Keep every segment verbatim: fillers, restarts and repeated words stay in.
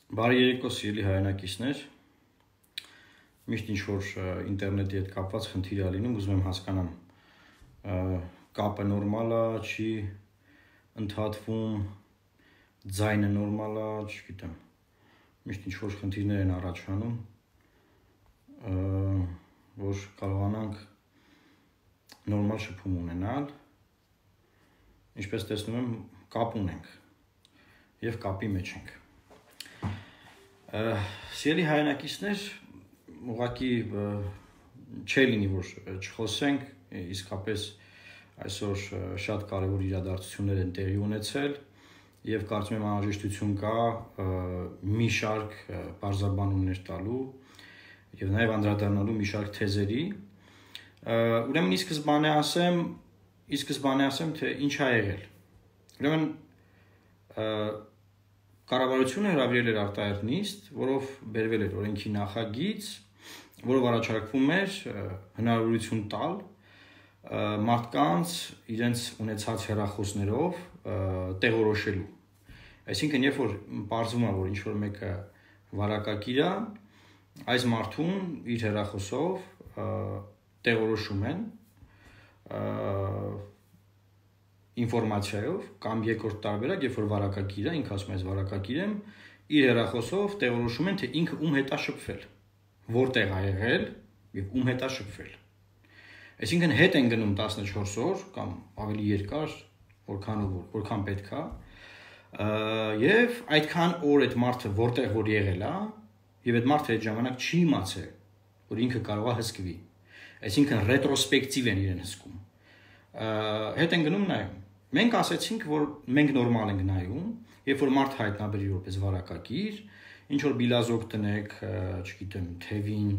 Բարի երեկո, սիրելի հայրենակիցներ, միշտ ինչ-որ ինտերնետի հետ կապված խնդիր է լինում, ուզում եմ հասկանամ, կապը նորմալ է, չի ընդհատվում, ձայնը նորմալ է, չգիտեմ, միշտ ինչ-որ խնդիրներ են առաջանում, որ կարողանանք նորմալ շփում ունենալ, ինչպես տեսնում եմ, կապ ունենք և կապի մեջ ենք։ Սիրելի հայրենակիցներ, ուղղակի չի լինի, որ չխոսենք, իսկապես այսօր շատ կարևոր իրադարձություններ են տեղի ունեցել և կարծում եմ անհրաժեշտություն կա մի շարք պարզաբանումներ տալու և նաև անդրադառնալու մի շարք թեզերի։ Ուրեմն ի սկզբանե ասեմ, ի սկզբանե ասեմ, թե ինչ ա եղել։ Ուրեմն Կառավարությունը հրավիրել էր արտահերթ նիստ, որով բերվել էր օրենքի նախագիծ, որով առաջարկվում էր հնարավորություն տալ մարդկանց իրենց ունեցած հեռախոսներով տեղորոշելու։ Այսինքն, երբ որ պարզվում է, որ ինչ-որ մեկը վարակագիր է, այս մարդուն իր հեռախոսով տեղորոշում են ինֆորմացիայով կամ երկրորդ տարբերակ, երբ որ վարակագիր է, ինքը ասում է, այս վարակագիր եմ, իր հեռախոսով տեղորոշում են, թե ինքը ում հետ է շփվել, որտեղ է եղել և ում հետ է շփվել։ Այսինքն հետ են գնում տասնչորս օր կամ ավելի երկար, որքան որքան պետք է, և այդքան օր այդ մարդը որտեղ որ եղել է, և այդ մարդը այդ ժամանակ չի իմացել, որ ինքը կարող է հսկվի։ Այսինքն ռետրոսպեկտիվ են իրեն հսկում։ Հետ են գնում նայում։ Մենք ասեցինք, որ մենք նորմալ ենք նայում, երբ որ մարդ հայտնաբերի որպես վարակագիր, ինչ որ բիլազոկ տնեք, չգիտեմ, թևին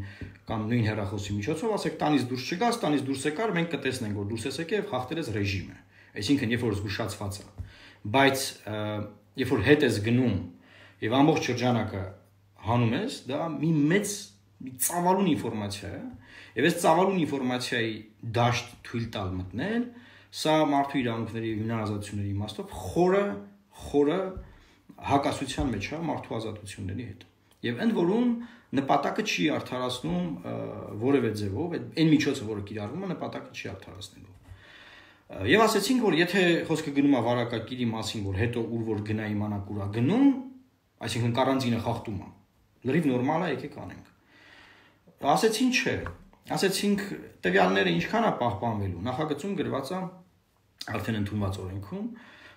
կամ նույն հեռախոսի միջոցով, ասեք տանից դուրս չգաս, տանից դուրս եկար, մենք կտեսնենք, որ դուրս ես եկել եւ խախտել ես ռեժիմը։ Այսինքն, երբ որ զգուշացված է, բայց երբ որ հետ ես գնում եւ ամբողջ շրջանակը հանում ես, դա մի մեծ մի ծավալուն ինֆորմացիա է, եւ այս ծավալուն ինֆորմացիայի դաշտ թույլ տալ մտնել, սա մարդու իրավունքների եւ ինքնազատությունների իմաստով խորը խորը հակասության մեջ է մարդու ազատությունների հետ։ Եվ ընդ որում նպատակը չի արդարացնում որևէ ձևով, այն միջոցը, որը կիրառվում է, նպատակը չի արդարացնելու։ Եվ ասեցինք, որ եթե խոսքը գնում է վարակագիրի մասին, որ հետո ուր որ գնա իմանանք ուր է գնում, այսինքն կարանտինը խախտում է, լրիվ նորմալ է, եկեք անենք։ Ասեցին չէ, ասեցինք տվյալները ինչքան է պահպանվելու, նախագծում գրված է արդեն ընդունված օրենքում,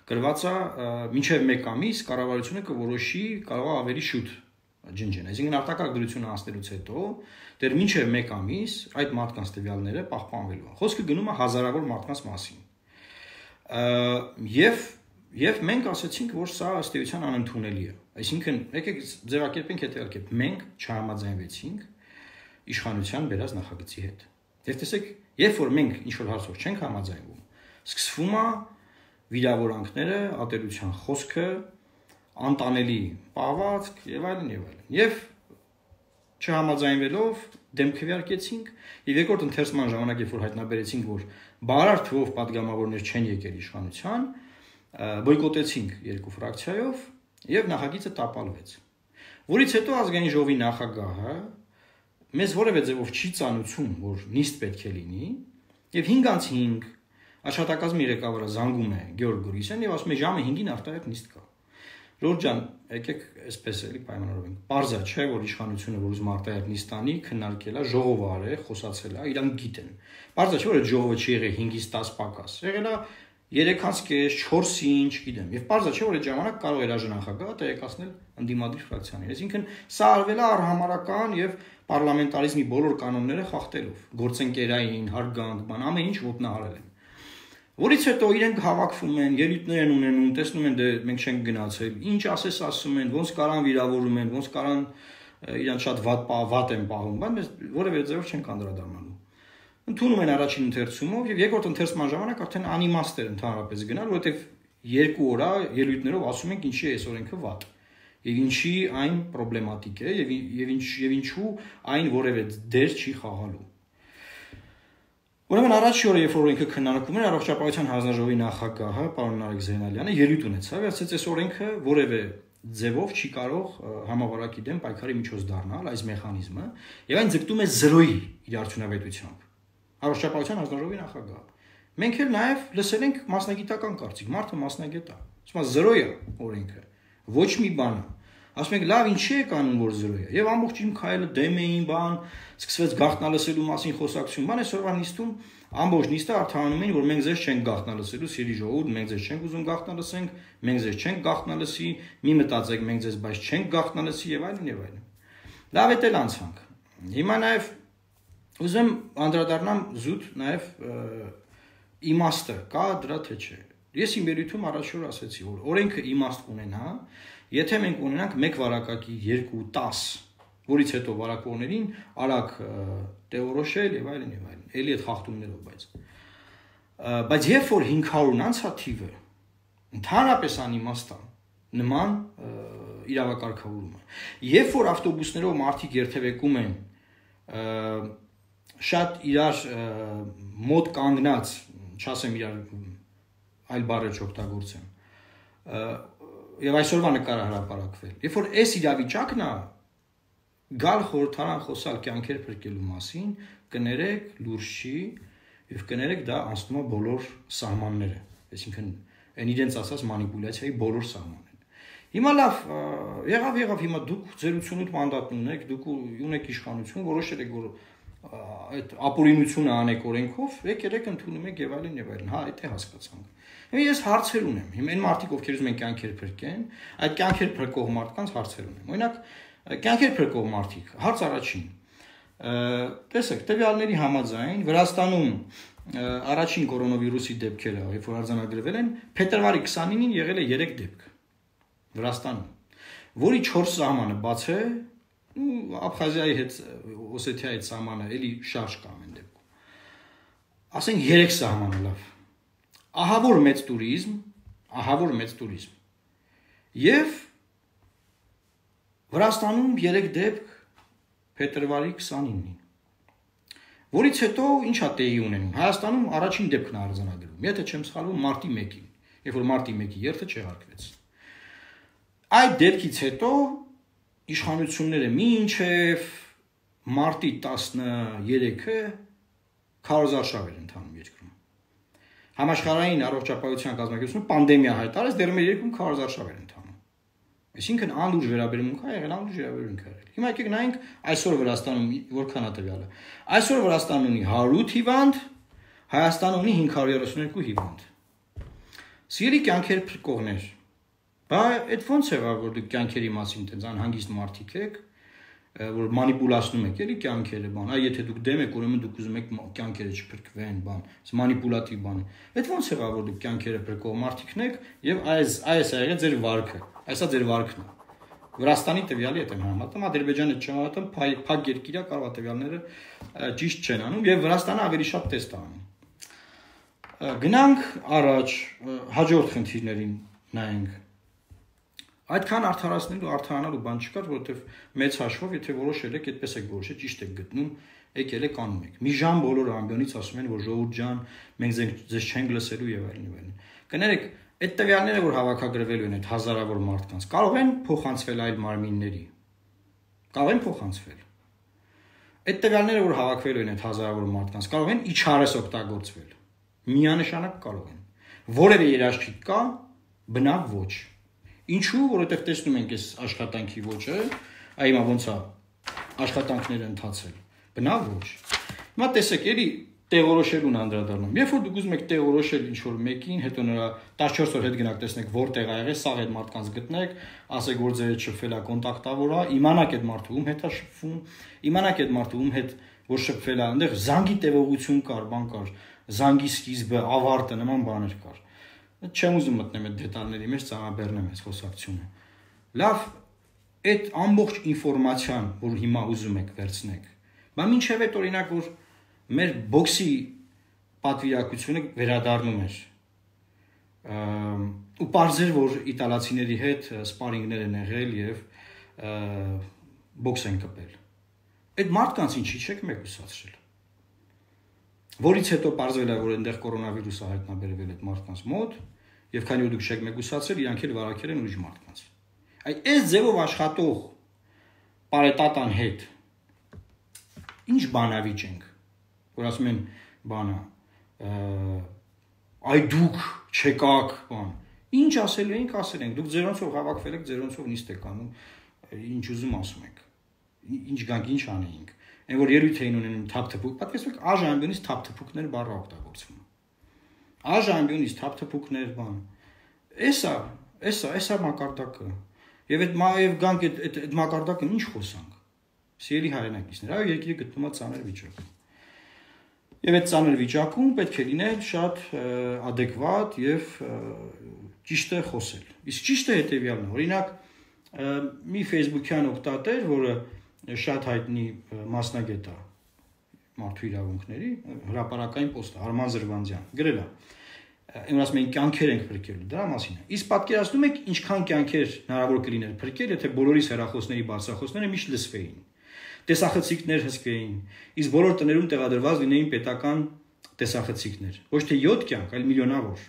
գրված է մինչև մեկ ամիս կառավարությունը կորոշի, կարող է ավելի շուտ ջնջեն։ Այսինքն արտակարգ դրությունը հասնելուց հետո դեռ մինչև մեկ ամիս այդ մարդկանց տվյալները պահպանվելու են։ Խոսքը գնում է հազարավոր մարդկանց մասին։ Եվ եւ մենք ասացինք, որ սա ըստ էության անընդունելի է։ Այսինքն, եկեք ձևակերպենք հետեւյալ կերպ, մենք չհամաձայնվեցինք իշխանության բերած նախագծի հետ։ Եվ տեսեք, երբ որ մենք ինչ-որ հարցով չենք համաձայնվում, սկսվում է վիրավորանքները, ատելության խոսքը, անտանելի պահվածք եւ այլն եւ այլն։ Եվ չհամաձայնվելով դեմ քվեարկեցինք եւ երկրորդ ընթերցման ժամանակ, երբ որ հայտնաբերեցինք, որ բարար թվով падգամավորներ չեն եկել իշխանության, բոյկոտեցինք երկու ֆրակցիայով եւ նախագիծը տապալվեց։ Որից հետո ազգային ժողովի նախագահը մեզ որևէ ձևով չի ծանուցում, որ նիստ պետք է լինի, եւ հինգ անց հինգ աշխատակազմի ղեկավարը զանգում է Գեորգ Գորիսյանին եւ ասում է ժամը հինգին արտահերթ նիստ կա։ Ժողովուրդ ջան, եկեք այսպես էլի պայմանավորվենք։ Պարզ է, չէ, որ իշխանությունը, որ ուզում արտահերթ նիստ անի, քննարկել է, ժողովը արել, խոսացել է, իրանք գիտեն։ Պարզ է, չէ, որ այդ ժողովը չի եղել հինգից տաս պակաս։ Եղել է երեքից կես, չորսին, չգիտեմ։ Եվ պարզ է, չէ, որ այդ ժամանակ կարող էր աժնախագահը տեղեկացնել ընդդիմադիր ֆրակցիաներին։ Այսինքն սա արվել է արհամարական եւ պարլամենտարիզմի բոլոր կանոնները խախտելով, գործընկերային, հարգանք, բան, ամեն ինչ ոտնահարել են։ Որից հետո իրենք հավաքվում են, ելույթներ են ունենում, տեսնում են դե մենք չենք գնացել, ինչ ասես ասում են, ոնց կարան վիրավորում են, ոնց կարան իրանք շատ վատ վատ են պահում, բայց mēs որևէ ձևով չենք անդրադառնալու։ Ընդունում են առաջին ընթերցումով եւ երկրորդ ընթերցման ժամանակ արդեն անիմաստ էր ընդհանրապես գնալ, որովհետեւ երկու օր ելույթներով ասում ենք ինչի է այս օրենքը վատ եւ ինչի այն պրոբլեմատիկ է եւ եւ ինչ եւ ինչու այն որևէ դեր չի խաղալու։ Ուրեմն առաջի օրը, երբ որ օրենքը քննարկվում էր, առողջապահության հանձնաժողովի նախագահը, պարոն Նարեկ Զեյնալյանը ելույթ ունեցավ, ասաց, այս օրենքը որևէ ձևով չի կարող համավարակի դեմ պայքարի միջոց դառնալ այս մեխանիզմը եւ այն ձգտում է զրոյի իր արդյունավետությամբ։ Առողջապահության հանձնաժողովի նախագահ։ Մենք էլ նաեւ լսել ենք մասնագիտական կարծիք, մարդը մասնագետ է։ Ասում է զրոյ է օրենքը, ոչ մի բան։ Ասում ենք լավ, ինչի է կանոն որ զրոյ է։ Եվ ամբողջ իմ քայլը դեմ էին բան, սկսվեց գաղտնալսելու մասին խոսակցություն, բան այսօրվա նիստում ամբողջ նիստը արդարանում էին, որ մենք ձեզ չենք գաղտնալսելու, սիրի ժողովուրդ, մենք ձեզ չենք ուզում գաղտնալսենք, մենք ձեզ չենք գաղտնալսի, մի մտածեք, մենք ձեզ բայց չենք գաղտնալսի եւ այլն եւ այլն։ Լավ է դել անցանք։ Հիմա նաեւ ուզեմ անդրադառնամ զուտ նաեւ իմաստը կա դրա թե չէ։ Ես իմ ելույթում առաջ որ ասացի, որ օրենքը իմաստ կունենա, եթե մենք ունենանք մեկ վարակակի երկու տասը, որից հետո վարակողներին արագ տեղորոշել եւ այլն եւ այլն, էլի այդ խախտումներով, բայց բայց երբ որ հինգ հարյուրն անցա թիվը, ընդհանրապես անիմաստ է նման իրավակարգավորումը։ Երբ որ ավտոբուսներով մարդիկ երթևեկում են շատ իրար մոտ կանգնած, չասեմ իրար այլ բառեր չօգտագործեմ, եւ այսօրվա նկարը հրապարակվել։ Երբ որ այս իրավիճակն է գալ խորհրդարան խոսալ կյանքեր փրկելու մասին, կներեք լուրջ չի եւ կներեք դա անցնում է բոլոր սահմանները, այսինքն այն իրենց ասած մանիպուլյացիայի բոլոր սահմանները։ Հիմա լավ, եղավ եղավ հիմա դուք ձեր ութսունութ մանդատն ունեք, դուք ունեք իշխանություն, որոշել եք որ այդ ապօրինությունը անեք օրենքով, եկեք ընդունում եք եւ այլն եւ այլն, հա, այդ է հասկացանք։ Հիմա ես հարցեր ունեմ, հիմա այն մարդիկ ովքեր ուզում են կյանքեր փրկեն, այդ կյանքեր փրկող մարդկանց հարցեր ունեմ։ Օրինակ, կյանքեր փրկող մարդիկ, հարց առաջին։ Տեսեք, տվյալների համաձայն Վրաստանում առաջին կորոնավիրուսի դեպքերը, երբ որ արձանագրվել են, փետրվարի քսանինին եղել է երեք դեպք Վրաստանում, որի չորս սահմանը բաց է, ու Աբխազիայի հետ Օսեթիայի հետ սահմանը էլի շարժ կա ամեն դեպքում։ Ասենք երեք սահմանը լավ։ Ահավոր մեծ տուրիզմ, ահավոր մեծ տուրիզմ։ Եվ Վրաստանում երեք դեպք փետրվարի քսանինին։ Որից հետո ինչա տեղի ունենում։ Հայաստանում առաջին դեպքն է արձանագրվում, եթե չեմ սխալվում, մարտի մեկին, երբ որ մարտի մեկի երթը չեղարկվեց։ Այդ դեպքից հետո իշխանությունները մինչև մարտի տասներեքը քարոզարշավ էր ընթանում երկրում։ Համաշխարհային առողջապահության կազմակերպությունը պանդեմիա հայտարարեց, դեռ մեր երկրում քարոզարշավ էր ընթանում։ Այսինքն անլուրջ վերաբերմունք է եղել, անլուրջ վերաբերմունք է եղել։ Հիմա եկեք նայենք այսօր Վրաստանում որքան է տվյալը։ Այսօր Վրաստանն ունի հարյուր հիվանդ, Հայաստանը ունի հինգ հարյուր երեսունյոթ հիվանդ։ Սիրելի կյանքեր փրկողներ, բա այդ ո՞նց է որ դուք կյանքերի մասին տենց անհանգիստ մարդիկ եք, որ մանիպուլացնում եք էլի կյանքերը, բան, այ եթե դուք դեմ եք, ուրեմն դուք ուզում եք կյանքերը չփրկվեն, բան, այս մանիպուլատիվ բան է։ Այդ ո՞նց է որ դուք կյանքերը փրկող մարդիկն եք եւ այս այս է եղել ձեր վարքը։ Այսա ձեր վարքն է։ Վրաստանի տվյալի հետ եմ համատում, Ադրբեջանը չեմ համատում, փակ երկիր է, կարող է տվյալները ճիշտ չեն անում եւ Վրաստանը ավելի շատ տեստ է անում։ Գնանք առաջ, հաջորդ խնդիրներին նայենք։ Այդքան արդարացնելու, արդարանալու բան չկար, որովհետեւ մեծ հաշվով, եթե որոշել եք, այդպես եք որոշել, ճիշտ եք գտնում, եկել եք անում եք։ Մի ժամ բոլորը ամբիոնից ասում են, որ ժողովուրդ ջան, մենք ձեզ չենք լսելու եւ այլն եւ այլն։ Կներեք, այդ տվյալները, որ հավաքագրվելու են այդ հազարավոր մարդկանց, կարող են փոխանցվել այլ մարմինների։ Կարող են փոխանցվել։ Այդ տվյալները, որ հավաքվելու են այդ հազարավոր մարդկանց, կարող են իջարես օգտագործվել։ Միանշանակ կարող են։ Որևէ երաշխիք կա, բնավ ոչ։ Ինչու, որովհետև տեսնում ենք այս աշխատանքի ոճը, այ հիմա ոնց է աշխատանքները ընթացել։ Բնավ ոչ։ Հիմա տեսեք, էլի տեղորոշելուն անդրադառնում։ Երբ որ դուք ուզում եք տեղորոշել ինչ-որ մեկին, հետո նրա տասնչորս օր հետ գնաք տեսնեք որտեղ ա եղել, սաղ այդ մարդկանց գտնեք, ասեք որ ձեր հետ շփվել է, կոնտակտավոր է, իմանաք այդ մարդը ում հետ է շփվում, իմանաք այդ մարդը ում հետ որ շփվել է, այնտեղ զանգի տևողություն կար, բան կար, զանգի սկիզբը, ավարտը, նման բաներ կար։ Չեմ ուզում մտնեմ այդ դետալների մեջ, ծանրաբեռնեմ այս խոսակցությունը։ Լավ, այդ ամբողջ ինֆորմացիան, որ հիմա ուզում եք վերցնեք, բա մինչև այդ օրինակ որ մեր բոքսի պատվիրակությունը վերադառնում էր ու պարզեր որ իտալացիների հետ սպարինգներ են եղել եւ բոքս են կպել։ Այդ մարդկանց ինչի չեք մեկուսացրել։ Որից հետո պարզվել է որ այնտեղ կորոնավիրուսը հայտնաբերվել այդ մարդկանց մոտ եւ քանի որ դուք չեք մեկուսացրել, իրանք էլ վարակել են ուրիշ մարդկանց։ Այդ այս ձևով աշխատող պարետատան հետ ինչ բանավիճ ենք, որ ասում են բանա, այ դուք չեկաք, բան, ինչ ասելու ենք, ասել ենք, դուք ձերանցով հավաքվել եք, ձերանցով նիստ եք անում, ինչ ուզում ասում եք, ինչ գանք, ինչ անեինք, այն որ երույթ էին ունենում թափթփուկ, պատկերացրեք աժամբյոնից թափթփուկներ բառը օգտագործվում, աժամբյոնից թափթփուկներ, բան, էսա, էսա, էսա մակարդակը, եւ այդ եւ գանք այդ այդ մակարդակը ինչ խոսանք, սիրելի հայրենակիցներ, այո երկիրը գտնվում է ծանր վիճակում, եւ այդ ծանր վիճակում պետք է լինել շատ adekvat եւ ճիշտ է խոսել, իսկ ճիշտը հետեւյալն է, օրինակ մի Facebook-յան օգտատեր, որը շատ հայտնի մասնագետ է մարդու իրավունքների, հրապարակային պոստ է, Արման Զրվանձյան, գրել է, այն ասում են կյանքեր ենք փրկելու, դրա մասին է։ Իսկ պատկերացնում եք ինչքան կյանքեր հնարավոր կլիներ փրկել, եթե բոլորիս հեռախոսների բարձրախոսները միշտ լսվեին, տեսախցիկներ հսկեին, իսկ բոլոր տներում տեղադրված լինեին պետական տեսախցիկներ, ոչ թե յոթ կյանք, այլ միլիոնավոր։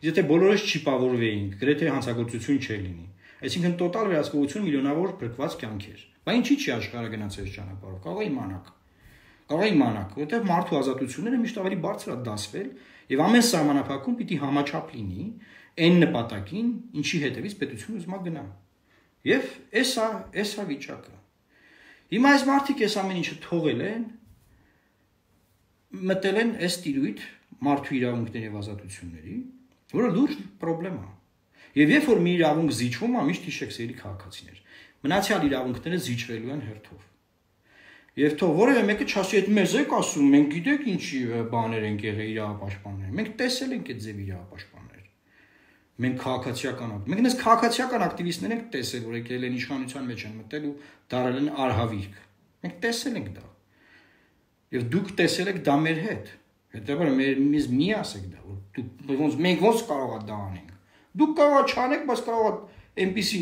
Եթե բոլորս չիպավորվեինք, գրեթե հանցագործություն չէր լինի, այսինքն տոտալ վերահսկողություն միլիոնավոր փրկված կյանքեր։ Բայց ինչի՞ չի աշխարհը գնաց այս ճանապարհով, կարող է իմանաք։ Կարող է իմանաք, որովհետև մարդու ազատությունները միշտ ավելի բարձր է դասվել եւ ամեն սահմանափակում պիտի համաչափ լինի այն նպատակին, ինչի հետևից պետությունը ուզում է գնա։ Եվ էսա, էսա վիճակը։ Հիմա այս մարդիկ այս ամեն ինչը թողել են, մտել են այս տիրույթ մարդու իրավունքների եւ ազատությունների, որը լուրջ խնդրեմ է։ Եվ երբ որ մի իրավունք զիջվում է, միշտ հիշեք սերի քաղաքացիներ, մնացյալ իրավունքները զիջվելու են հերթով։ Եվ թող որևէ մեկը չասի, այդ մեզ եք ասում, մենք գիտեք ինչի բաներ ենք եղել իրավապաշտպաններ։ Մենք տեսել ենք այդ ձև իրավապաշտպաններ։ Մենք քաղաքացիական, մենք նես քաղաքացիական ակտիվիստներ ենք տեսել, որ եկել են իշխանության մեջ են մտել ու դարել են արհավիրք։ Մենք տեսել ենք դա։ Եվ դուք տեսել եք դա մեր հետ։ Հետևաբար մեր մեզ մի ասեք դա, որ դուք ոնց մենք ոնց կարող է դա անենք։ Դուք կարող եք չանեք, բայց կարող է այնպիսի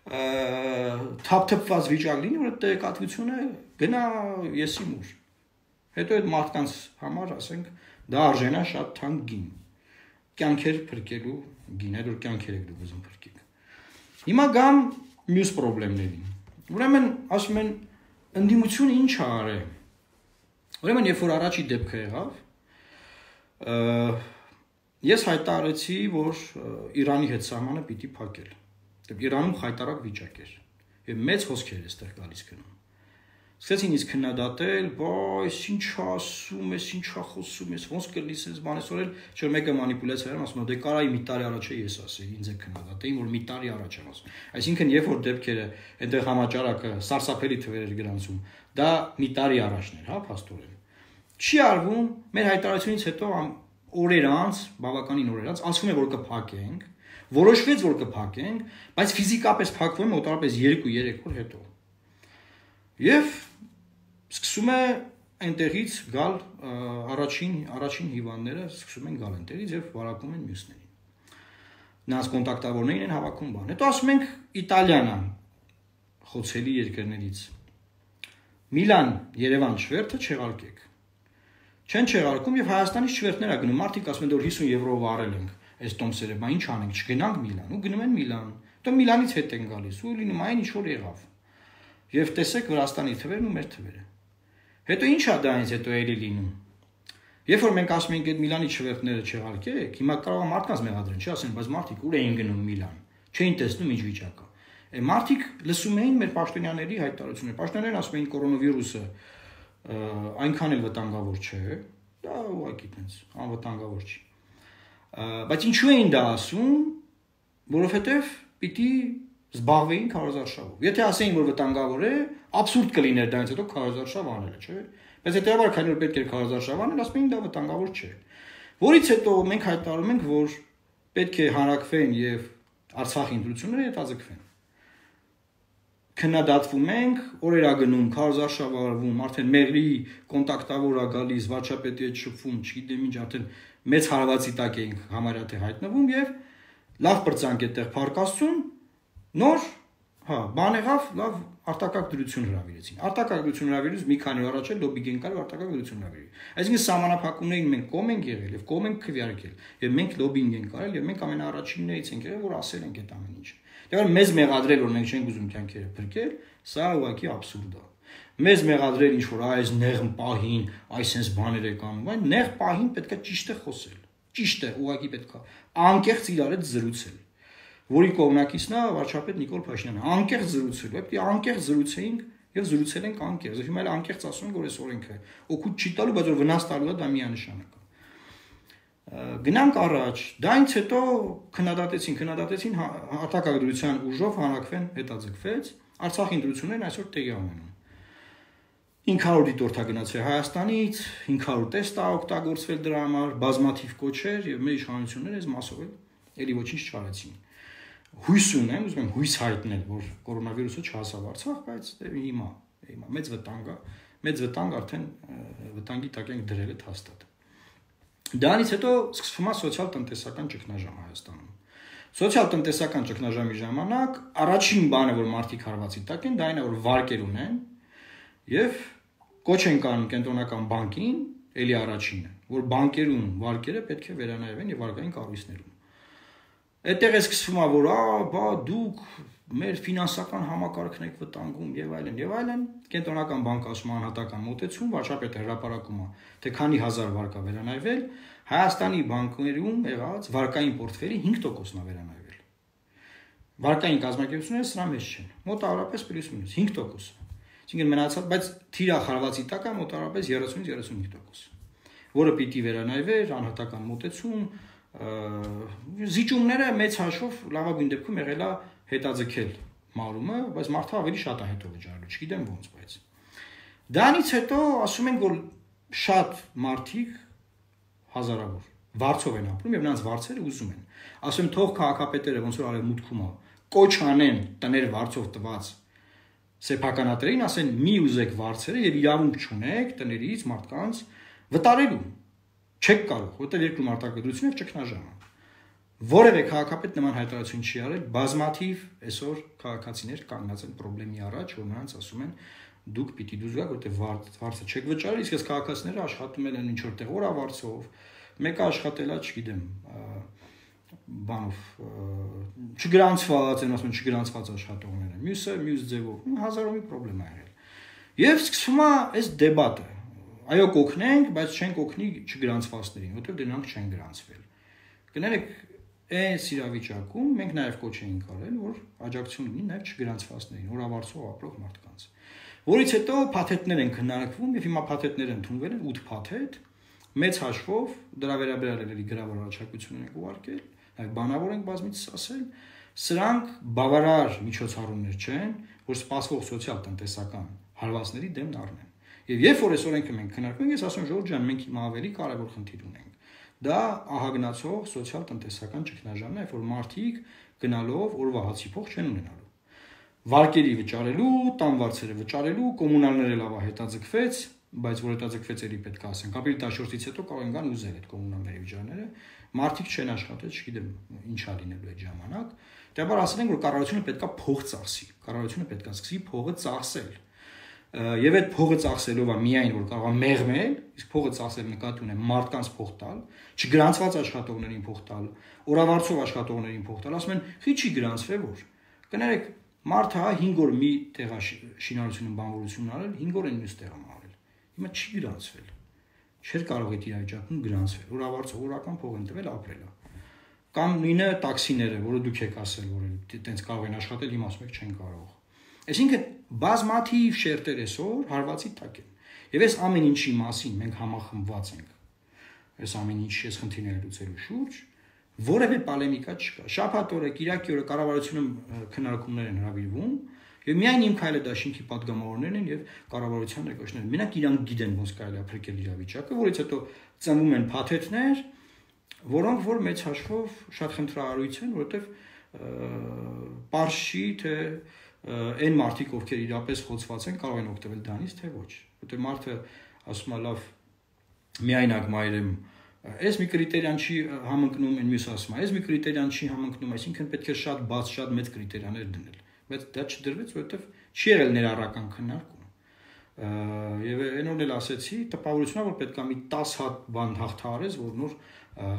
թափթփված վիճակ լինի, որ տեղեկատվությունը գնա եսի մուր։ Հետո այդ մարդկանց համար, ասենք, դա արժենա շատ թանկ գին։ Կյանքեր փրկելու գին, այդ որ կյանքեր եք դուք ուզում փրկեք։ Հիմա գամ մյուս խնդիրներին։ Ուրեմն ասում են ընդդիմությունը ինչ է արել։ Ուրեմն երբ որ առաջի դեպքը եղավ, ես հայտարարեցի, որ Իրանի հետ սահմանը պիտի փակել։ Դեպի Իրանում խայտարակ վիճակ էր եւ մեծ հոսքեր է ստեղ գալիս գնում։ Սկսեցին իսկ քննադատել, բայց ինչ ասում ես, ինչ խոսում ես, ոնց կլինի sense բան ասել, չէ՞ մեկը մանիպուլյացիա էր, ասում է, դե կարայի մի տարի առաջ է ես ասեի, ինձ է քննադատեին, որ մի տարի առաջ եմ ասում։ Այսինքն երբ որ դեպքերը այնտեղ համաճարակը սարսափելի թվեր էր գրանցում, դա մի տարի առաջն էր, հա, փաստորեն։ Չի արվում, մեր հայտարարությունից հետո օրեր անց, բավականին օրեր անց, ասվում է, որ կփակենք, որոշվեց, որ կփակենք, բայց ֆիզիկապես փակվում է մոտավորապես երկու-երեք օր հետո։ Եվ սկսում է այնտեղից գալ առաջին առաջին հիվանդները սկսում են գալ այնտեղից եւ վարակում են մյուսներին։ Նրանց կոնտակտավորներին են հավաքում բան։ Հետո ասում ենք Իտալիան խոցելի երկրներից։ Միլան, Երևան շվերթը չեղարկեք։ Չեն չեղարկում եւ Հայաստանից շվերթներ ա գնում։ Մարդիկ ասում են որ հիսուն եվրո վարել ենք այս տոմսերը, բա ինչ անենք, չգնանք Միլան, ու գնում են Միլան։ Հետո Միլանից հետ են գալիս ու լինում այն ինչ որ եղավ։ Եվ տեսեք Վրաստանի թվերն ու մեր թվերը։ Հետո ի՞նչ է դա ինձ հետո էլի լինում։ Երբ որ մենք ասում ենք այդ Միլանի շվերթները չեղարկեք, հիմա կարող է մարդկանց մեղադրեն, չի ասեն, բայց մարդիկ ուր էին գնում Միլան։ Չէին տեսնում ինչ վիճակ է։ Է մարդիկ լսում էին մեր պաշտոնյաների հայտարարությունները։ Պաշտոնյաներն ասում էին կորոնավիրուսը այնքան էլ վտանգավոր չէ, դա ուղղակի տենց անվտանգավոր չի։ Բայց ինչու էին դա ասում, որովհետև պիտի զբաղվեին քարոզարշավով։ Եթե ասեին, որ վտանգավոր է, абսուրդ կլիներ դրանից հետո քարոզարշավ անելը, չէ՞։ Բայց հետեւաբար քանի որ պետք է քարոզարշավ անել, ասում էին դա վտանգավոր չէ։ Որից հետո մենք հայտարարում ենք, որ պետք է հանրակրվեն եւ Արցախի ընտրությունները հետաձգվեն։ Քննադատվում ենք, օրեր ա գնում, քարոզարշավ արվում, արդեն մեղրի կոնտակտավոր ա գալիս, վարչապետի հետ շփվում, չգիտեմ ինչ, արդեն մեծ հարվածի տակ ենք համարյա թե հայտնվում եւ լավ բրցանք այդտեղ փարկաստուն, նոր, հա, բան եղավ, լավ արտակարգ դրություն հրավիրեցին։ Արտակարգ դրություն հրավիրելուց մի քանի օր առաջ էլ լոբի գեն կար արտակարգ դրություն հրավիրի։ Այսինքն սահմանափակումներին մենք կողմ ենք եղել եւ կողմ ենք քվեարկել եւ մենք լոբինգ ենք արել եւ մենք ամենաառաջիններից ենք եղել, որ ասել ենք այդ ամեն ինչ։ Դե մեզ մեղադրել որ մենք չենք ուզում կյանքերը փրկել, սա ուղղակի աբսուրդ է։ Մեզ մեղադրել ինչ որ այս նեղն պահին, այս sense բաներ է կանում, այն նեղ պահին պետքա ճիշտ է խոսել։ Ճիշտ է, ուղղակի պետքա անկեղծ իրար հետ զրուցել։ Որի կողմնակիցն է վարչապետ Նիկոլ Փաշինյանը, անկեղծ զրուցել, պետք է անկեղծ զրուցեինք եւ զրուցել ենք անկեղծ։ Հիմա էլ անկեղծ ասում ենք որ այս օրենքը օգուտ չի տալու, բայց որ վնաս տալու է, դա միանշանակ է։ Գնանք առաջ, դրանից հետո քննադատեցին, քննադատեցին հատակագրության ուժով հանրակրվեն հետաձգվեց, Արցախի ընտրություններն այսօր տեղի ունենում։ հինգ հարյուր դիտորդ է գնացել Հայաստանից, հինգ հարյուր տեստ է օգտագործվել դրա համար, բազմաթիվ կոչեր եւ մեր իշխանությունները այս մասով էլ էլի ոչինչ չարեցին։ Հույս ունեմ, ուզում եմ հույս հայտնել, որ կորոնավիրուսը չհասավ Արցախ, բայց հիմա, հիմա մեծ վտանգ է, մեծ վտանգ արդեն վտանգի տակ ենք դրել է հաստատ։ Դրանից հետո սկսվում է սոցիալ-տնտեսական ճգնաժամ Հայաստանում։ Սոցիալ-տնտեսական ճգնաժամի ժամանակ առաջին բանը, որ մարդիկ հարվածի տակ են, դա այն է, որ վարկեր ունեն եւ կոչ են կանում կենտրոնական բանկին, ելի առաջինը, որ բանկերում վարկերը պետք է վերանայվեն եւ վարկային կառույցներում։ Այդտեղ է սկսվում է, որ ա, բա դուք մեր ֆինանսական համակարգն եք վտանգում եւ այլն եւ այլն, կենտրոնական բանկը ասում է անհատական մոտեցում, վարչապետը հրապարակում է, թե քանի հազար վարկ է վերանայվել, Հայաստանի բանկերում եղած վարկային պորտֆելի հինգ տոկոսն է վերանայվել։ Վարկային կազմակերպությունները սրա մեջ չեն, մոտավորապես պլյուս մինուս հինգ տոկոս։ Այսինքն մնացած, բայց թիրախարվածի տակ է մոտավորապես երեսունից երեսունհինգ տոկոս, որը պիտի վերանայվեր անհատական մոտեցում, զիջումները մեծ հաշվով լավագույն դեպքում եղել է հետաձգել մարումը, բայց մարդը ավելի շատ է հետո վճարելու, չգիտեմ ոնց, բայց դրանից հետո ասում են, որ շատ մարդիկ հազարավոր վարձով են ապրում եւ նրանց վարձերը ուզում են։ Ասում են թող քաղաքապետերը ոնց որ արևմուտքում է, կոչ անեն տներ վարձով տված սեփականատերին, ասեն մի ուզեք վարձերը եւ իրավունք չունեք տներից մարդկանց վտարելու։ Չեք կարող, որտեղ երկրում արտադրություն եւ ճգնաժամ է։ Որևէ քաղաքապետ նման հայտարարություն չի արել, բազմաթիվ այսօր քաղաքացիներ կանգնած են խնդրի առաջ, որ նրանց ասում են դուք պիտի դուրս գաք, որտեղ վարձը չեք վճարել, իսկ այս քաղաքացիները աշխատում են ինչ որ տեղ օրավարձով, մեկը աշխատել է, չգիտեմ, բանով չգրանցված, են ասում չգրանցված աշխատողներ են, մյուսը մյուս ձևով, հազարով մի խնդրեմ է եղել։ Եվ սկսվում է այս դեբատը։ Այո, կօգնենք, բայց չենք օգնի չգրանցվածներին, որտեղ դրանք չեն գրանցվել։ Կներեք, այս իրավիճակում մենք նաև կոչ էինք արել, որ աջակցություն լինի նաև չգրանցվածներին, օրավարձով ապրող մարդկանց։ Որից հետո փաթեթներ են քննարկվում եւ հիմա փաթեթները ընդունվել են ութ փաթեթ, մեծ հաշվով դրա վերաբերյալ էլի գրավոր առաջարկություններ են ուղարկել, նաև բանավոր ենք բազմիցս ասել, սրանք բավարար միջոցառումներ չեն, որ սպասվող սոցիալ-տնտեսական հարվածների դեմն առնեն։ Եվ երբ որ այս օրենքը մենք քննարկում ենք, ես ասում եմ Ժորժ ջան, մենք հիմա ավելի կարևոր խնդիր ունենք։ Դա ահագնացող սոցիալ-տնտեսական ճգնաժամն է, որ մարդիկ գնալով օրվա հացի փող չեն ունենալու։ Վարկերի վճարելու, տան վարձերը վճարելու, կոմունալները լավա հետաձգվեց, բայց որ հետաձգվեց էլի պետք է ասենք, ապրիլի տասնչորսից հետո կարող են գան ուզել այդ կոմունալների վճարները, մարդիկ չեն աշխատել, չգիտեմ ինչա լինելու այդ ժամանակ։ Դեպի ասել են, որ կառավարությունը պետքա փող ծախսի, կառավարությունը պետքա սկսի փողը ծախսել։ Եվ այդ փողը ծախսելով է միայն որ կարող է մեղմել, իսկ փողը ծախսել նկատի ունեմ մարդկանց փող տալ, չգրանցված աշխատողներին փող տալ, օրավարձով աշխատողներին փող տալ, ասում են, խի չի գրանցվել որ։ Կներեք, մարդը հա հինգ օր մի տեղա շինարարությունում բանվորություն արել, հինգ օր են մյուս տեղում արել։ Հիմա չի գրանցվել։ Չէր կարող այդ իրավիճակում գրանցվել, օրավարձով օրական փող են տվել ապրել է։ Կամ նույնը տաքսիները, որը դուք եք ասել, որ այտենց կարող են աշխատել, հիմա ասում եք չեն կարող։ Այսինքն բազմաթիվ շերտեր այսօր հարվածի տակ են։ Եվ այս ամեն ինչի մասին մենք համախմբված ենք։ Այս ամեն ինչի այս խնդիրները լուծելու շուրջ որևէ պոլեմիկա չկա։ Շաբաթ օրը, Կիրակի օրը կառավարությունում քննարկումներ են հրավիրվում, եւ միայն իմ քայլը դաշինքի падգամավորներն են եւ կառավարության ներկայացուցիչները։ Մենակ իրանք գիտեն ոնց կարելի է փրկել իրավիճակը, որից հետո ծնվում են փաթեթներ, որոնք որ մեծ հաշվով շատ խնդրահարույց են, որովհետեւ պարշի թե այն մարդիկ, ովքեր իրապես խոցված են, կարող են օգտվել դրանից, թե ոչ։ Որտեղ մարդը ասում է լավ, միայնակ մայրեմ, այս մի կրիտերիան չի համընկնում, այն մյուս ասում է, այս մի կրիտերիան չի համընկնում, այսինքն պետք է շատ բաց, շատ մեծ կրիտերիաներ դնել։ Բայց դա չդրվեց, որովհետև չի եղել ներառական քննարկում։ Եվ այն օրն էլ ասեցի, տպավորությունա, որ պետք է մի տասը հատ բան հաղթահարես, որ նոր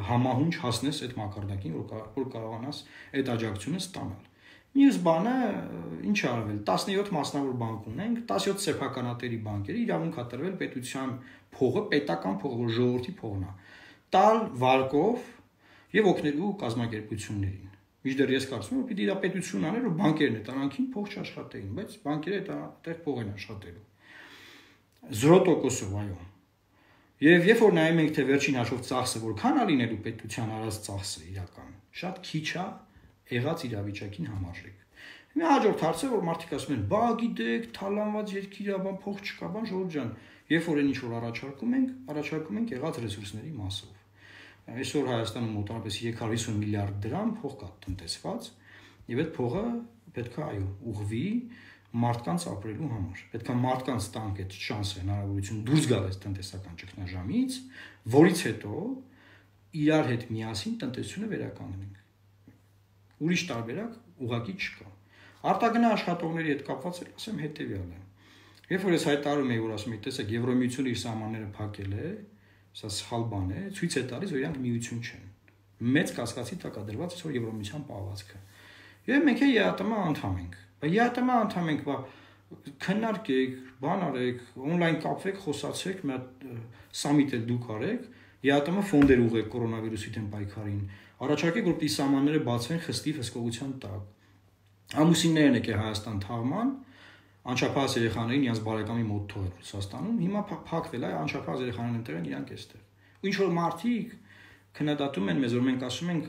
համահունչ հասնես այդ մակարդակին, որ որ կարողանաս այդ աջակցությունը ստանալ։ Մյուս բանը ինչ արվել, տասնյոթ մասնավոր բանկ ունենք, տասնյոթ սեփականատերի բանկերի իրավունք է տրվել պետության փողը, պետական փողը, ժողովրդի փողն է, տալ վարկով եւ օգնելու կազմակերպություններին։ Միջդեռ ես կարծում եմ, որ պիտի դա պետություն աներ, որ բանկերն է տանանքին փող չաշխատեին, բայց բանկերը այդտեղ փող են աշխատելու։ Զրո տոկոսով, այո։ Եվ երբ որ նայում ենք, թե վերջին հաշվով ծախսը որքան է լինելու պետության արած ծախսը իրական, շատ քիչ է եղած իրավիճակին համարժեք։ Մի հաջորդ հարցը, որ մարդիկ ասում են, բա գիտեք, թալանված երկիր է, բան փող չկա, բան ժողովուրդ ջան, երբ որ այն ինչ որ առաջարկում ենք, առաջարկում ենք եղած ռեսուրսների մասով։ Այսօր Հայաստանում մոտավորապես երեք հարյուր հիսուն միլիարդ դրամ փող կա տնտեսված, եւ այդ փողը պետք է այո ուղղվի մարդկանց ապրելու համար։ Պետք է մարդկանց տանք այդ շանսը, հնարավորություն դուրս գալ այս տնտեսական ճգնաժամից, որից հետո իրար հետ միասին տնտեսությունը վերականգնենք։ Ուրիշ տարբերակ ուղղակի չկա։ Արտագնա աշխատողների հետ կապված էլ ասեմ հետեւյալը։ Երբ որ ես հայտարարում եմ, որ ասում եմ, տեսեք, Եվրոմիությունը իր սահմանները փակել է, սա սխալ բան է, ցույց է տալիս, որ իրանք միություն չեն։ Մեծ կասկածի տակ է դրված այսօր Եվրոմիության պահվածքը։ Եվ մենք է ԵԱՏՄ անդամ ենք։ Բայց ԵԱՏՄ անդամ ենք, բա քննարկեք, բան արեք, on-line կապվեք, խոսացեք, մի հատ սամիտ էլ դուք արեք, ԵԱՏՄ ֆոնդեր ուղղեք կորոնավիրուսի դեմ պայքարին։ Առաջարկեք, որպեսզի սահմանները բացվեն խստիվ հսկողության տակ։ Ամուսիններն եկե Հայաստան թաղման, անչափահաս երեխաներին իրենց բարեկամի մոտ թողել Ռուսաստանում, հիմա փակվել է, անչափահաս երեխաներն ընտրեն իրանք էստեղ։ Ու ինչ որ մարդիկ քննադատում են մեզ, որ մենք ասում ենք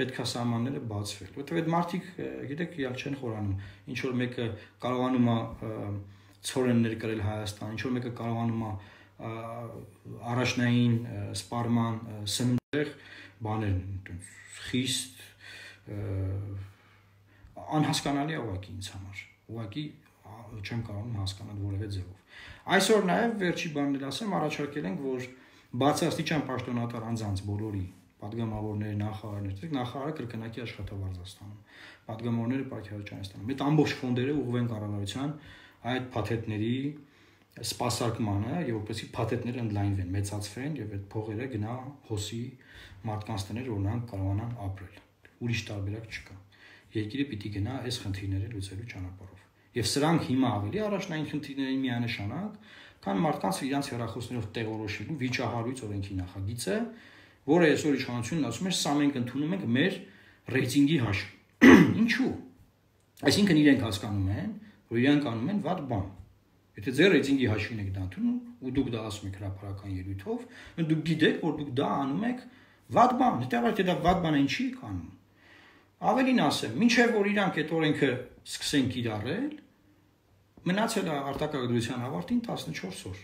պետք է սահմանները բացվել, որովհետև այդ մարդիկ, գիտեք, իրանք չեն խորանում, ինչ որ մեկը կարողանում է ցորեններ կրել Հայաստան, ինչ որ մեկը կարողանում է առաջնային սպառման սնունդեղ բաներ, խիստ անհասկանալի է ուղղակի ինձ համար, ուղղակի չեմ կարողանում հասկանալ որևէ ձևով։ Այսօր նաև վերջի բանն ասեմ, առաջարկել ենք, որ բացաստիճան պաշտոնատար անձանց բոլորի պատգամավորների, նախարարներ, նախարարը կրկնակի աշխատավարձ ստանում, պատգամավորները պայքարության ստանում։ Այդ ամբողջ ֆոնդերը ուղղվեն կառավարության այդ փաթեթների սպասարկմանը եւ որպեսզի փաթեթները ընդլայնվեն, մեծացվեն եւ այդ փողերը գնա հոսի մարդկանց տներ, որ նրանք կարողանան ապրել։ Ուրիշ տարբերակ չկա։ Երկիրը պիտի գնա այս խնդիրները լուծելու ճանապարհով։ Եվ սրանք հիմա ավելի առաջնային խնդիրներին միանշանակ, քան մարդկանց իրենց հեռախոսներով տեղորոշելու վիճահարույց օրենքի նախագիծը, որը այսօր իշխանությունն ասում է, սա մենք ընդունում ենք մեր ռեյտինգի հաշվին։ Ինչու՞։ Այսինքն իրենք հասկանում են, որ իրենք անում են վատ բան։ Եթե ձեր ռեյտինգի հաշվին եք դա ընդունում, ու դուք դա ասում եք հրապարական ելույթով, դուք գիտեք, որ դուք դա անում եք վատ բան, հետևաբար դա վատ բան է, ինչի եք անում։ Ավելին ասեմ, մինչև որ իրանք այդ օրենքը սկսեն կիրառել, մնացել է արտակարգության ավարտին տասնչորս օր։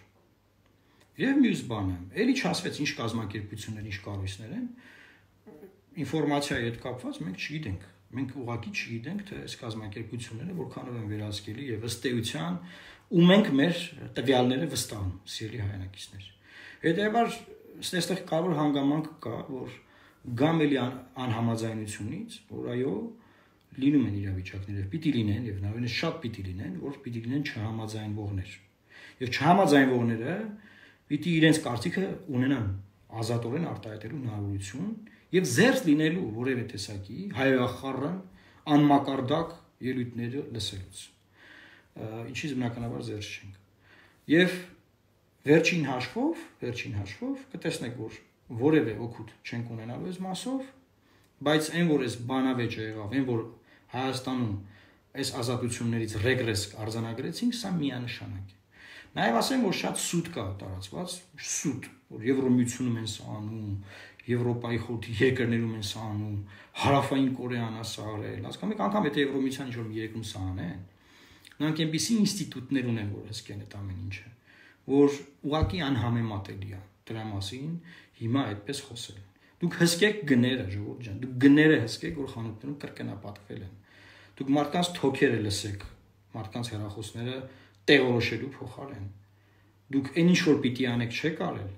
Եվ մյուս բանը, էլի չասվեց ինչ կազմակերպություններ, ինչ կառույցներ են, ինֆորմացիայի հետ կապված մենք չգիտենք։ Մենք ուղղակի չգիտենք, թե այս կազմակերպությունները որքանով են վերահսկելի եւ ըստ էության ու մենք մեր տվյալները վստահում, սիրելի հայրենակիցներ։ Հետևաբար այստեղ կարևոր հանգամանք կա, որ գամ էլի անհամաձայնությունից, որ այո, լինում են իրավիճակները, պիտի լինեն եւ նաեւ շատ պիտի լինեն, որ պիտի լինեն չհամաձայնվողներ։ Եվ չհամաձայնվողները պիտի իրենց կարծիքը ունենան ազատորեն արտահայտելու հնարավորություն եւ զերծ լինելու որևէ տեսակի հայախառն անմակարդակ ելույթները լսելուց։ Ինչից բնականաբար զերծ չենք։ Եվ վերջին հաշվով, վերջին հաշվով կտեսնեք, որ որևէ օգուտ չենք ունենալու այս մասով, բայց այն որ այս բանավեճը եղավ, այն որ Հայաստանում այս ազատություններից ռեգրես արձանագրեցինք, սա միանշանակ է։ Նաև ասեմ, որ շատ սուտ կա տարածված, սուտ, որ Եվրոմիությունում են սա անում, Եվրոպայի խորհրդի երկրներում են սա անում, Հարավային Կորեան է սա արել, հասկանում եք, անգամ եթե Եվրոմիության ինչ-որ մի երկրում սա անեն, նրանք այնպիսի ինստիտուտներ ունեն, որ հսկեն այդ ամեն ինչը, որ ուղղակի անհամեմատելի է դրա մասին հիմա այդպես խոսել։ Դուք հսկեք գները, ժողովուրդ ջան, դուք գները հսկեք, որ խանութներում կրկնապատկվել են։ Դուք մարդկանց թոքերը լսեք, մարդկանց հեռախոսները տեղորոշելու փոխարեն։ Դուք այն ինչ որ պիտի անեք չեք արել,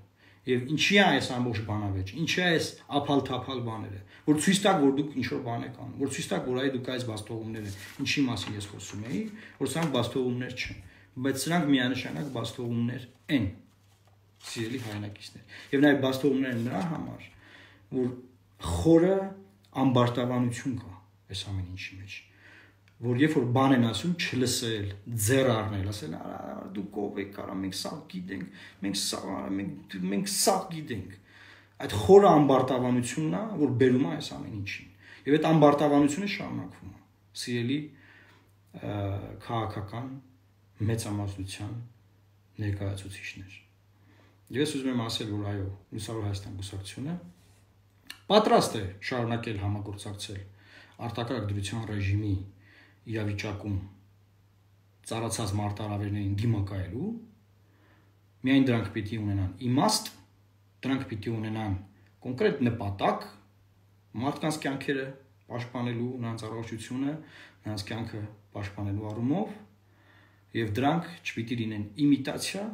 եւ ինչի է այս ամբողջ բանավեճը, ինչի է այս ափալ-թափալ բաները, որ ցույց տակ, որ դուք ինչ որ բան եք անում, որ ցույց տակ, որ այ դուք այս բաստողումները, ինչի մասին ես խոսում էի, որ սրանք բաստողումներ չեն, բայց սրանք միանշանակ բաստողումներ են, սիրելի հայրենակիցներ։ Եվ նաեւ բաստողումներ են նրա համար, որ խորը ամբարտավանություն կա այս ամեն ինչի մեջ։ որ երբ որ բան են ասում, չլսել, ձեռ առնել, ասել, դուք ով եք, արա մենք սա գիտենք, մենք սա, մենք մենք սա գիտենք։ Այդ խորը ամբարտավանությունն է, որ բերում է այս ամեն ինչին։ Եվ այդ ամբարտավանությունը շարունակվում է։ Սիրելի քաղաքական մեծամասնության ներկայացուցիչներ։ Ես ուզում եմ ասել, որ այո, Լուսավոր Հայաստան կուսակցությունը պատրաստ է շարունակել համագործակցել արտակարգ դրության ռեժիմի իրավիճակում ծառացած մարտահրավերներին դիմակայելու, միայն դրանք պիտի ունենան իմաստ, դրանք պիտի ունենան կոնկրետ նպատակ, մարդկանց կյանքերը պաշտպանելու, նրանց առողջությունը, նրանց կյանքը պաշտպանելու առումով, եւ դրանք չպիտի լինեն իմիտացիա,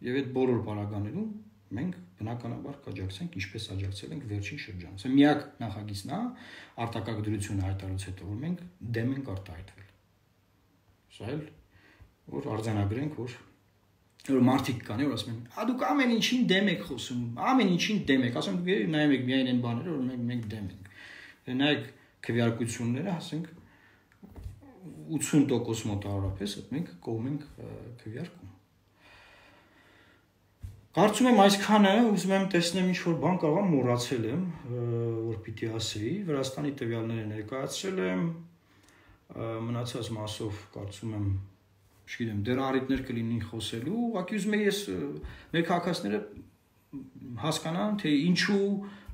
եւ այդ բոլոր բառականներում մենք բնականաբար կաջակցենք, ինչպես աջակցել ենք վերջին շրջանում։ Սա միակ նախագիծն է արտակարգ դրությունը հայտարարից հետո, որ մենք դեմ ենք արտահայտվել։ Սա էլ որ արձանագրենք, որ որ մարդիկ կան, որ ասում են, «Ա դուք ամեն ինչին դեմ եք խոսում, ամեն ինչին դեմ եք», ասում դուք նայում եք միայն այն բաները, որ մենք մենք դեմ ենք։ Նայեք քվեարկությունները, ասենք ութսուն տոկոս մոտավորապես մենք կողմ ենք քվեարկում։ Կարծում եմ այսքանը, ուզում եմ տեսնեմ ինչ-որ բան կարող եմ մոռացել եմ, որ պիտի ասեի, Վրաստանի տվյալները ներկայացրել եմ, մնացած մասով կարծում եմ, չգիտեմ, դեռ առիթներ կլինին խոսելու, ուղղակի ուզում եմ ես մեր քաղաքացիները հասկանան, թե ինչու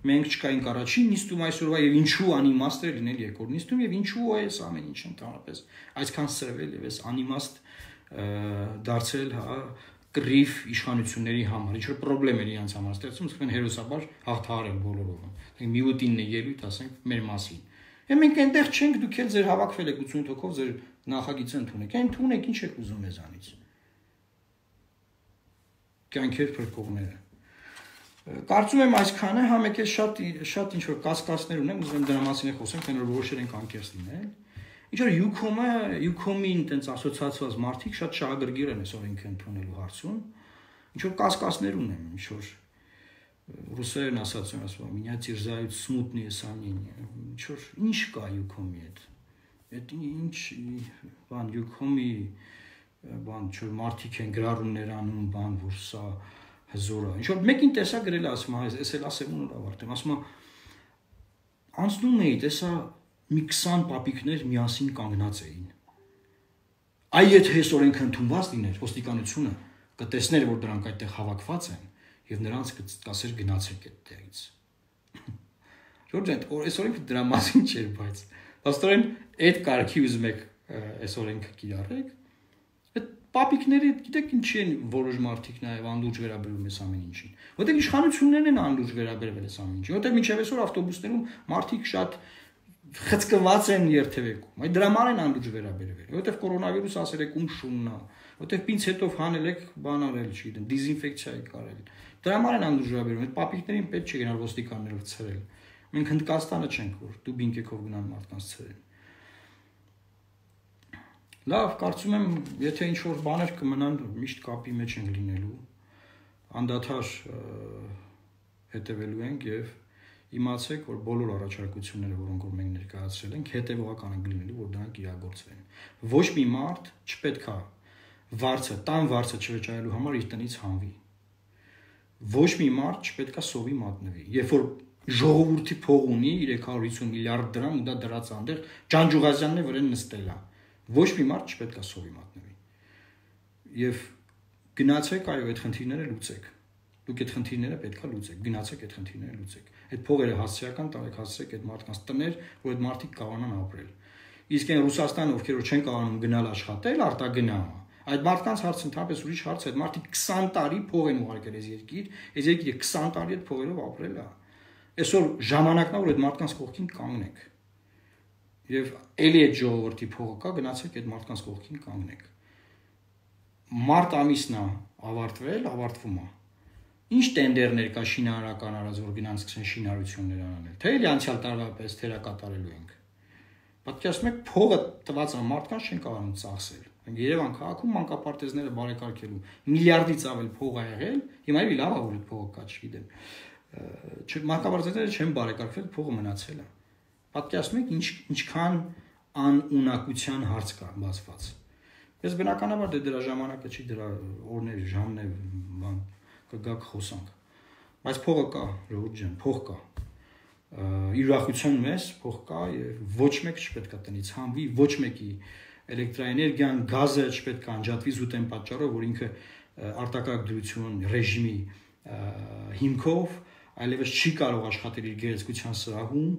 մենք չկայինք առաջին նիստում այսօրվա եւ ինչու անիմաստ է լինել երկրորդ նիստում եւ ինչու է այս ամեն ինչը ընդհանրապես այսքան սրվել եւ այս անիմաստ դարձել, հա, կռիվ իշխանությունների համար, ինչ որ խնդիրներ իրենց համար ստեղծում, ասում են հերոսաբար հաղթահարել բոլորովը։ Միուտինն է ելույթ, ասենք, մեր մասին։ Եվ մենք այնտեղ չենք, դուք էլ ձեր հավաքվել եք ութսուն հոգով, ձեր նախագիծը ընդունեք։ Այն ընդունեք, ինչ եք ուզում մեզանից։ Կյանքեր փրկողները։ Կարծում եմ այսքանը, հա մեկ է շատ շատ ինչ որ կասկածներ ունեմ, ուզում եմ դրա մասին խոսեմ, թե նոր որոշել ենք անկեղծ լինել։ Ինչ որ Յուքոմը, Յուքոմին տենց ասոցիացված մարդիկ շատ շահագրգիռ են այս օրենքը ընդունելու հարցում։ Ինչ որ կասկածներ ունեմ, ինչ որ ռուսերեն ասած են ասում, «Меня терзают смутные сомнения»։ Ինչ որ ինչ կա Յուքոմի հետ։ Այդ ինչ բան Յուքոմի բան ինչ որ մարդիկ են գրառումներ անում, բան որ սա հզոր է։ Ինչ որ մեկին տեսա գրել ասում, այս էլ ասեմ ու ավարտեմ, ասում անցնում էի, տեսա մի քսան պապիկներ միասին կանգնած էին։ Այ եթե այս օրենքը ընդունված լիներ, ոստիկանությունը կտեսներ, որ դրանք այդտեղ հավաքված են եւ նրանց կասեր գնացեք այդտեղից։ Ժորժ, այս օրենքը դրա մասին չէր, բայց աստորեն այդ կարգի ուզում եք այս օրենքը կիրառեք։ Այդ պապիկները գիտեք ինչի են որոշ մարդիկ նաեւ անդուրջ վերաբերում այս ամեն ինչին։ Որտեղ իշխանություններն են անդուրջ վերաբերվել այս ամեն ինչին։ Որտեղ մինչեւ այսօր ավտոբուսներում մարդիկ շատ խցկված են երթևեկում։ Այդ դրա համար են անդուրջ վերաբերվել։ Որտեղ կորոնավիրուս ասել եք ում շունն է, որտեղ պինցետով հանել եք, բան արել, չգիտեմ, դիզինֆեկցիա եք արել։ Դրա համար են անդուրջ վերաբերվում։ Այդ պապիկներին պետք չէ գնալ ոստիկաններով ցրել։ Մենք Հնդկաստանը չենք, որ դու բինկեքով գնան մարդկանց ցրել։ Լավ, կարծում եմ, եթե ինչ որ բաներ կմնան, միշտ կապի մեջ են լինելու, անդադար հետևելու ենք եւ իմացեք, որ բոլոր առաջարկությունները, որոնք որ մենք ներկայացրել ենք, հետևողական են լինելու, որ դրանք իրագործվեն։ Ոչ մի մարդ չպետք է վարձը, տան վարձը չվճարելու համար իր տնից հանվի։ Ոչ մի մարդ չպետք է սովի մատնվի։ Երբ որ ժողովրդի փող ունի երեք հարյուր հիսուն միլիարդ դրամ ու դա դրած այնտեղ Ջանջուղազյանն է վրան նստել է։ Ոչ մի մարդ չպետք է սովի մատնվի։ Եվ գնացեք, այո, այդ խնդիրները լուծեք։ Դուք այդ խնդիրները պետք է լուծեք, գնացեք այդ խնդիրները լուծեք։ Այդ փողերը հասարակական տարեք հասցրեք այդ մարդկանց տներ, որ այդ մարդիկ կարողանան ապրել։ Իսկ այն Ռուսաստանը, ովքեր որ չեն կարողանում գնալ աշխատել, արտագնա։ Այդ մարդկանց հարցը ընդհանրապես ուրիշ հարց է, այդ մարդիկ քսան տարի փող են ուղարկել այս երկիր, այս երկիրը քսան տարի այդ փողերով ապրել է։ Այսօր ժամանակն է, որ այդ մարդկանց կողքին կանգնեք։ Եվ ելի այդ ժողովրդի փողը կա, գնացեք այդ մարդկանց կողքին կանգնեք։ Մարտ ամիսն է ավարտվել, ավարտվում է։ Ինչ տենդերներ կա շինարարական արած, որ գնանք սկսեն շինարարություններ անել։ Թե էլի անցյալ տարվա պես թերակատարելու ենք։ Պատկերացնում եք, փողը տված է մարդկանց չեն կարողանում ծախսել։ Մենք Երևան քաղաքում մանկապարտեզները բարեկարգելու միլիարդից ավել փող ա եղել, հիմա էլի լավ է որ այդ փողը կա, չգիտեմ։ Մանկապարտեզները չեն բարեկարգվել, փողը մնացել է։ Պատկերացնում եք ինչ ինչքան անունակության հարց կա բացված։ Ես բնականաբար դե դրա ժամանակը չի, դրա օրներ, ժամներ, բան կգաք խոսանք։ Բայց փողը կա, ժողովուրդ ջան, փող կա։ Ուրախություն մեզ, փող կա եւ ոչ մեկ չպետք է տնից հանվի, ոչ մեկի էլեկտրաէներգիան, գազը չպետք է անջատվի զուտ այն պատճառով, որ ինքը արտակարգ դրություն ռեժիմի հիմքով այլևս չի կարող աշխատել իր գերեզգության սրահում,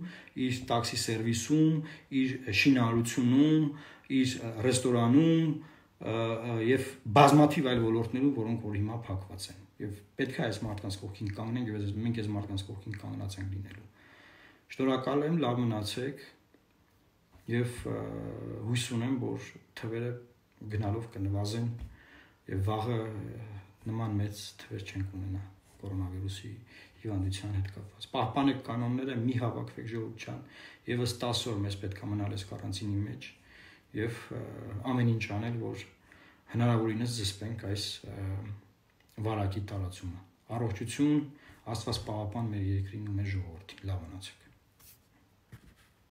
իր տաքսի սերվիսում, իր շինարարությունում, իր ռեստորանում եւ բազմաթիվ այլ ոլորտներում, որոնք որ հիմա փակված են։ Եվ պետք է այս մարդկանց կողքին կանգնենք եւ մենք այս մարդկանց կողքին կանգնած ենք լինելու։ Շնորհակալ եմ, լավ մնացեք եւ հույս ունեմ, որ թվերը գնալով կնվազեն եւ վաղը նման մեծ թվեր չենք ունենա կորոնավիրուսի հիվանդության հետ կապված։ Պահպանեք կանոնները, մի հավաքվեք ժողովուրդ ջան, եւս տասը օր մեզ պետք է մնալ այս կարանտինի մեջ եւ ամեն ինչ անել, որ հնարավորինս զսպենք այս վարակի տարածումը։ Առողջություն, Աստված պահապան մեր երկրին ու մեր ժողովրդին։ Լավ մնացեք։